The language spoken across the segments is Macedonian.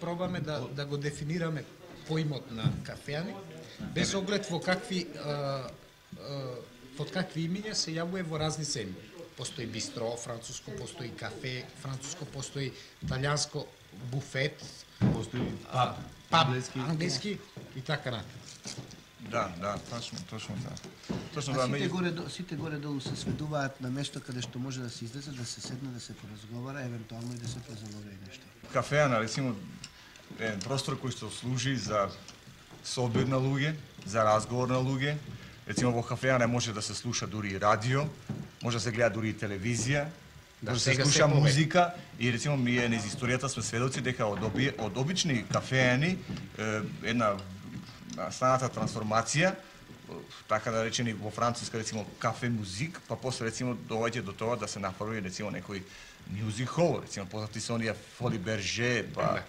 пробаме да го дефинираме поимот на кафеани, без оглед во какви под какви имиња се јавува во разни земји. Постои бистро француско, постои кафе француско, постои италијанско буфет, постои паб англиски и така натаму. Да, точно да. Точно да, сите горе-долу се сведуваат на место каде што може да се излезе, да се седне, да се поразговара, евентуално и да се презалови нешто. Кафеана, речимо, е простор кој што служи за собир на луѓе, за разговор на луѓе. Рецимо во кафеана може да се слуша дури и радио, може да се гледа дури и телевизија, може да се слуша музика и рецимо ние низ историјата сме сведоци дека од обични кафеани една станата трансформација, така да речени во Француска рецимо кафе музик, па после рецимо доаѓа до тоа да се направи рецимо некој мюзик хол, рецимо познати се оние Фоли Берже, па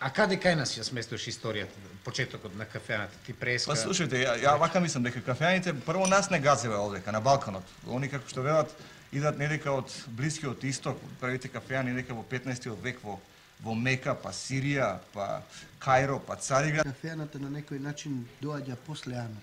А каде кај нас ја сместуваш историјата, почетокот на кафеаната, ти преска? Па слушајте, ја вака мислам дека кафеаните прво нас не газева овдека на Балканот. Они како што велат идат недека од Блискиот исток, првите кафеани недека во 15-тиот век во Мека, па Сирија, па Кајро, па Цариград. Кафеаната на некој начин доаѓа после Анот.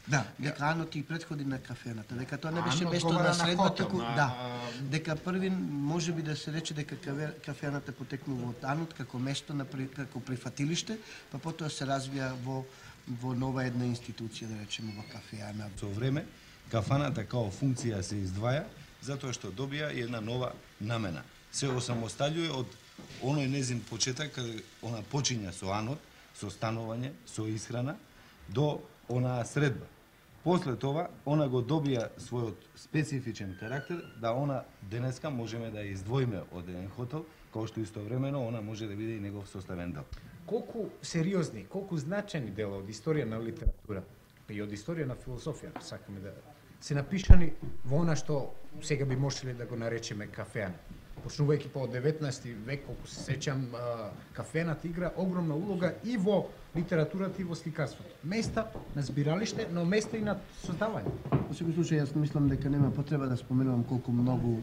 Да, дека Анот и претходи на кафеаната, дека тоа не беше место на средба, туку да. Дека први можеби да се рече дека кафеаната потекнува од Анот како место како прифатилиште, па потоа се развија во нова една институција, да речеме во кафеана. Со време кафаната као функција се издваја затоа што добија една нова намена. Се осамосталјува од оној незин почеток каде она почиња со Анот, со станување, со исхрана до онаа средба. После тоа, она го добија својот специфичен карактер, да она денеска можеме да ја издвоиме од еден хотел, као што истовремено она може да биде и негов составен дел. Колку сериозни, колку значајни дела од историја на литература и од историја на философија, сакаме да се напишани во она што сега би можеле да го наречеме кафеана. Почнувајќи по 19 век, колку се сеќам, кафената игра огромна улога и во литературата и во сликарството. Места на збиралиште, но места и на создавање. Во секој случај, јас мислам дека нема потреба да споменувам колку многу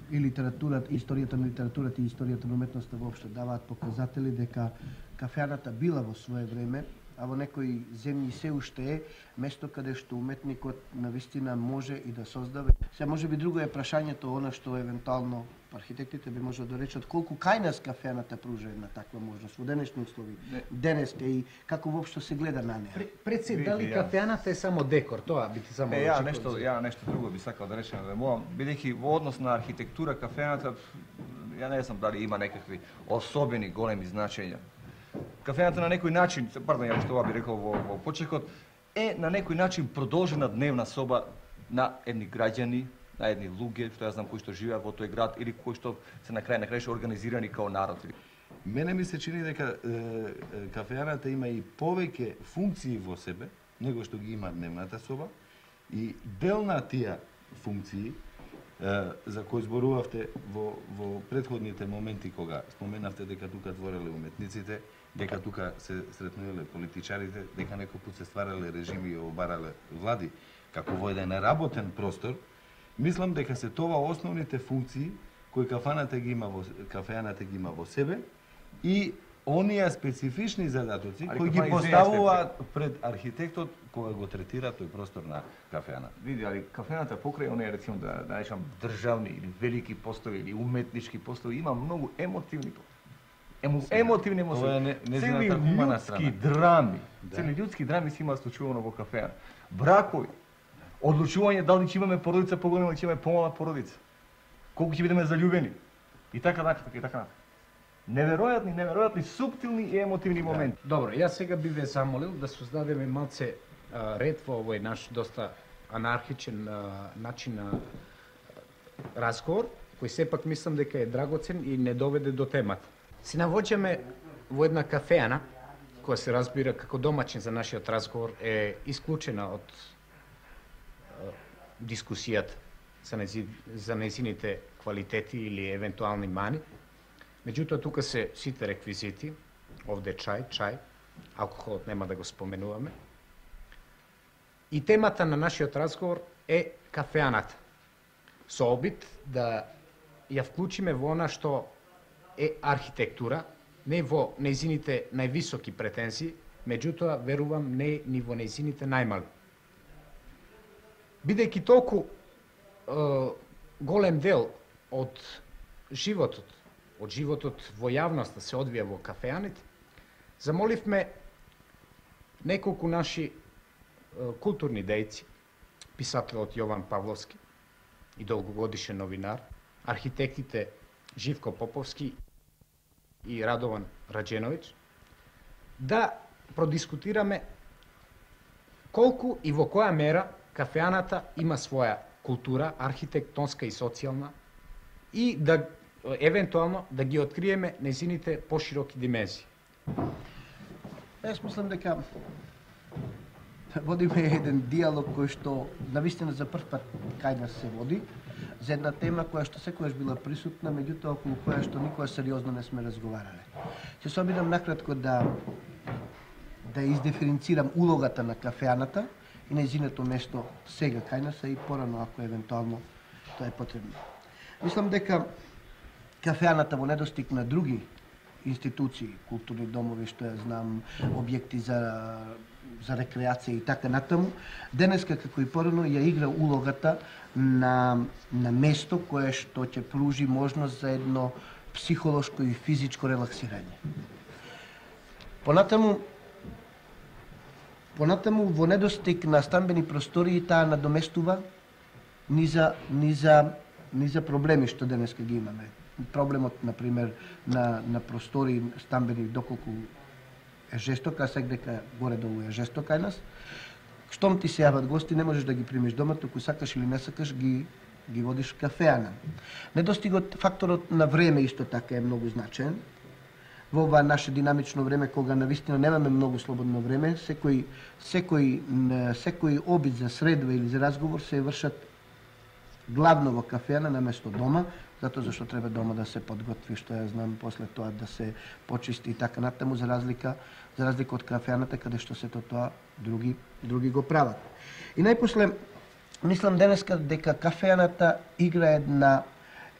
и литературата, и историјата на литературата и историјата на уметноста воопшто даваат показатели дека кафеаната била во свое време, а во некои земји се уште е место каде што уметникот навистина може и да создава. Се може би друго е прашањето, она што евентуално архитектите би можело да речат колку кај нас кафеаната пружа една таква можност во денешни услови. Денеска и како воопшто се гледа на неа. Пред се, дали кафеаната е само декор, тоа би ти само Ја нешто друго би сакал да речем да мога, бидејќи во однос на архитектура кафеаната ја не знам дали има некакви особени големи значења. Кафеаната на некој начин, пардон, ја што би рекол во почетокот, е на некој начин продолжена дневна соба на едни граѓани, на едни луѓе, што ја знам кои што живеат во тој град или кои што се на крај организирани као народ. Мене ми се чини дека кафеаната има и повеќе функции во себе, него што ги има дневната соба, и дел на тие функции за кои зборувавте во претходните моменти кога споменавте дека тука твореле уметниците, дека тука се сретнувале политичарите, дека некој пат се стварале режими и обарале влади, како во еден работен простор, мислам дека се тоа основните функции кои кафеаната ги има во себе и оние специфични задатоци кои ги поставуваат пред архитектот кога го третира тој простор на кафеаната. Види, али кафеаната покрај оние рецимо да речам државни или велики постои или уметнички постои има многу емотивни емотивни емоции. Цели људски драми. Цели људски драми се има случувано во кафеана. Бракови, одлучување дали ќе имаме породица поголема или ќе имаме помала породица. Колку ќе бидеме заљубени. И така натаму. Неверојатни, суптилни и емотивни моменти. Добро, јас сега би ве замолил да создадеме малце ред во овој наш доста анархичен начин на разговор, кој сепак мислам дека е драгоцен и не доведе до темата. Се навоѓаме во една кафеана, која се разбира како домаќин за нашиот разговор, е исклучена од дискусијата за нејзините квалитети или евентуални мани. Меѓутоа, тука се сите реквизити, овде чај, алкохолот нема да го споменуваме. И темата на нашиот разговор е кафеаната. Со обид да ја вклучиме во она што е архитектура, не во нејзините највисоки претензии, меѓутоа верувам не ни во нејзините најмали. Бидејќи толку голем дел од животот во јавноста се одвија во кафеаните, замоливме неколку наши културни дејци, писателот Јован Павловски и долгогодишен новинар, архитектите Живко Поповски и Радован Раđenović, да продискутираме колку и во која мера кафеаната има своја култура, архитектонска и социјална, и да евентуално да ги откриеме нејзините пошироки димензии. Јас мислам дека водиме еден диалог кој што навистина за прв пат кај нас се води за една тема која што секогаш била присутна, меѓутоа околу која што никога сериозно не сме разговарале. Ќе се обидам накратко да издиференцирам улогата на кафеаната и нејзиното место сега кај нас, и порано ако евентуално тоа е потребно. Мислам дека кафеаната во недостиг на други институции, културни домови, што ја знам, објекти за рекреација и така натаму, денеска како и порано ја игра улогата на место кое што ќе пружи можност за едно психолошко и физичко релаксирање. Понатаму во недостиг на стамбени простории таа надоместува ни за проблеми што денеска ги имаме. Проблемот, например, на простори стамбени, доколку е жесток, а сега дека горе-долу е жесток кај нас. Штом ти се јават гости, не можеш да ги примиш дома, току сакаш или не сакаш, ги водиш кафеана. Недостигот, факторот на време исто така е многу значаен. Во ова наше динамично време, кога навистина немаме многу слободно време, секој обид за средба или за разговор се вршат главно во кафеана наместо дома, затоа зашто треба дома да се подготви, што ја знам, после тоа да се почисти и така натаму, за разлика од кафеаната, каде што сето тоа други го прават. И најпосле, мислам денеска дека кафеаната игра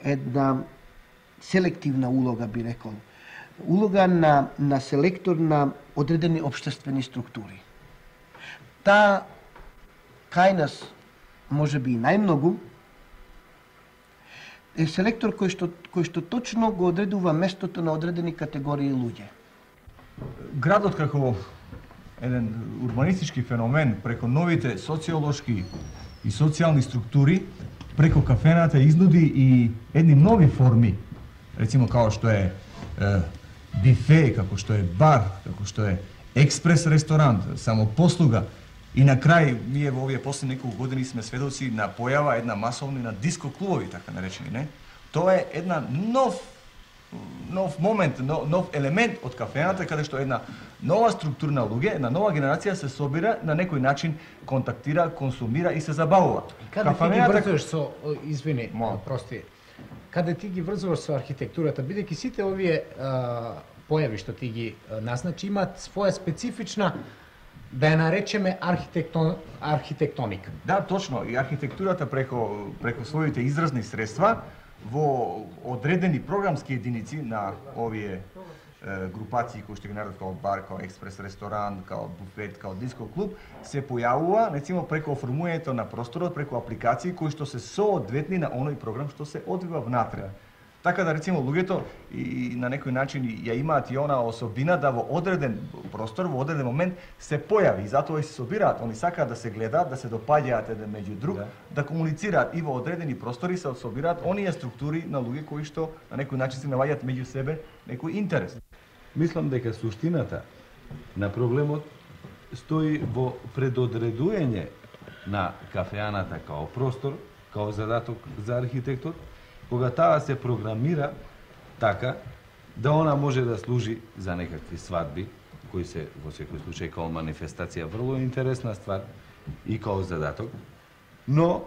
една селективна улога, би рекол. Улога на селектор на одредени општествени структури. Таа кај нас, може би и најмногу, е селектор кој што точно го одредува местото на одредени категории луѓе. Градот како еден урбанистички феномен преко новите социолошки и социјални структури, преко кафената изнуди и едни нови форми, рецимо како што е бифе, како што е бар, како што е експрес ресторант, самопослуга. И на крај, ние во овие последни неколку години сме сведоци на појава една масовни на диско клубови, така наречени, не? Тоа е една нов момент, нов елемент од кафената, каде што една нова структура на луѓе, една нова генерација се собира, на некој начин контактира, консумира и се забавува. Каде ти ги врзуваш со, извини, прости, каде ти ги врзуваш со архитектурата, бидејќи сите овие појави што ти ги назначи имаат своја специфична, да ја наречеме архитектоника. Да, точно. И архитектурата преко своите изразни средства во одредени програмски единици на овие групации кои што ги наредат као бар, као експрес ресторант, као буфет, као диско клуб, се појавува, рецимо, преко оформувањето на просторот, преко апликации кои што се соодветни на оној програм што се одвива внатре. Така да, рецимо, луѓето и на некој начин ја имаат и она особина да во одреден простор, во одреден момент се појави и затоа и се собираат. Они сакаат да се гледаат, да се допаѓаат еден меѓу друг, да комуницираат и во одредени простори се собираат оние структури на луѓе кои што на некој начин се наоѓаат меѓу себе некој интерес. Мислам дека суштината на проблемот стои во предодредување на кафеаната као простор, као задаток за архитектот, кога таа се програмира така да она може да служи за некакви свадби, кои се во секој случај као манифестација врло интересна ствар и као задаток, но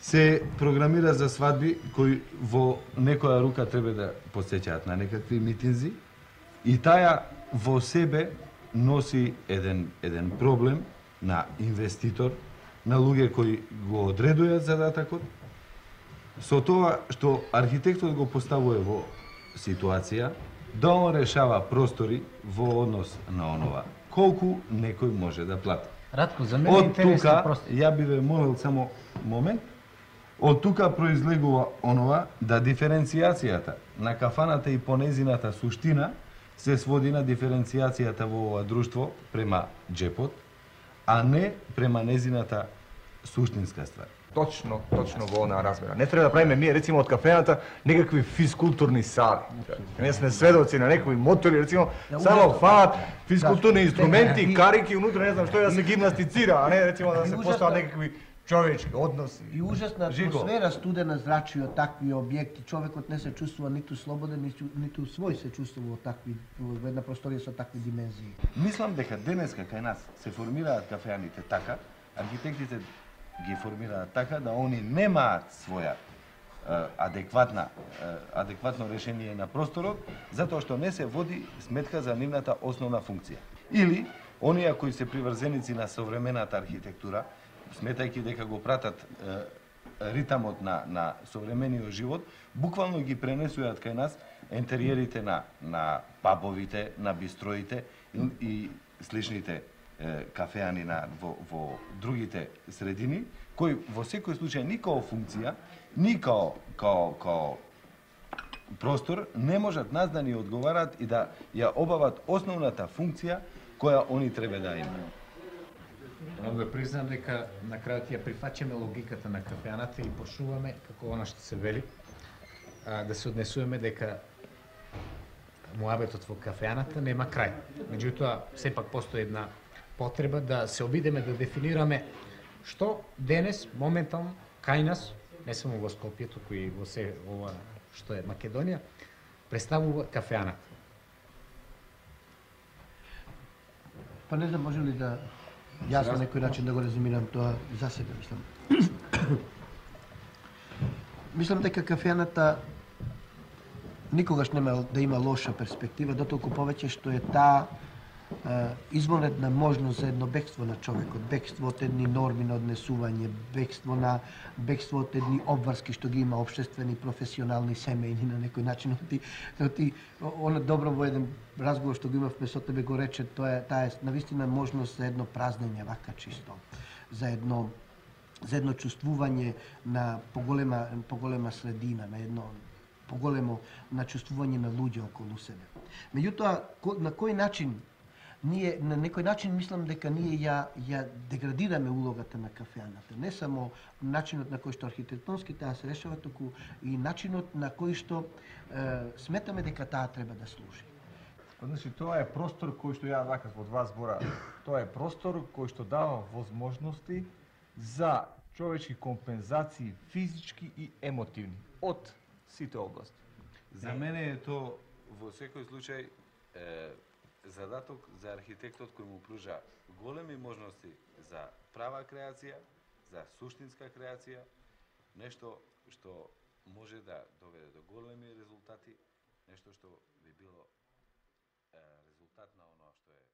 се програмира за свадби кои во некоја рука треба да потсеќаат на некакви митинзи и таа во себе носи еден проблем на инвеститор, на луѓе кои го одредуваат задатокот, со тоа што архитектот го поставува во ситуација да он решава простори во однос на онова колку некој може да плати. Радко, за мене е Од интересно тука, просто. ја би ве молил само момент, од тука произлегува онова да диференцијацијата на кафаната и по незината суштина се своди на диференцијацијата во ова друштво према джепот, а не према незината суштинска ствар. Точно во онаа размера. Не треба да правиме ние рецимо од кафената некакви физкултурни сали. Ние сме сведоци на некои мотори, рецимо, само фанат физкултурни инструменти, карики унутре, не знам што, да се гимнастицира, а не рецимо да се постават некакви човечки односи. И ужасна атмосфера, студена зрачи од такви објекти. Човекот не се чувствува ниту слободен, ниту свој се чувствува во една просторија со такви димензии. Мислам дека денеска кај нас се формираат кафеаните така, архитектите ги формираат така да они немаат своја адекватно решение на просторот, затоа што не се води сметка за нивната основна функција. Или оние кои се приврзеници на современата архитектура, сметајќи дека го пратат ритамот на современиот живот, буквално ги пренесуваат кај нас интериерите на пабовите, на бистроите и сличните кафеани во другите средини, кои во секој случај ни као функција, ни као простор не можат нас да ни одговарат и да ја обават основната функција која они треба да имаат. Мога да признам дека на крајот ја прифаќаме логиката на кафеаната и почнуваме, како она што се вели, да се однесуваме дека муабетот во кафеаната нема крај. Меѓутоа, сепак постои една потреба да се обидеме да дефинираме што денес, моментално, кај нас, не само во Скопје, туку и во се ова што е Македонија, представува кафеаната. Па не знам, може ли да јас на некој начин да го резумирам тоа за себе, мислам. Мислам дека кафеаната никогаш нема да има лоша перспектива, дотолку повеќе што е таа извонредна можност за едно бегство на човекот, бегство од едни норми на однесување, бегство од едни обврски што ги има општествени, професионални, семејни на некој начин. Ти она добро во еден разговор што го имавме со тебе го рече, таа е навистина можност за едно празнење вака чисто, за едно чувствување на поголема средина, на едно поголемо на чувствување на луѓе околу себе. Меѓутоа, на кој начин ние на некој начин мислам дека ние ја деградираме улогата на кафеаната. Не само начинот на кој што архитектонски таа се решава, туку и начинот на кој што сметаме дека таа треба да служи. Значи, тоа е простор кој што ја вака во два збора, тоа е простор кој што дава возможности за човечки компензации физички и емотивни од сите области. За мене е тоа во секој случај задаток за архитектот кој му пружа големи можности за права креација, за суштинска креација, нешто што може да доведе до големи резултати, нешто што би било резултат на оно што е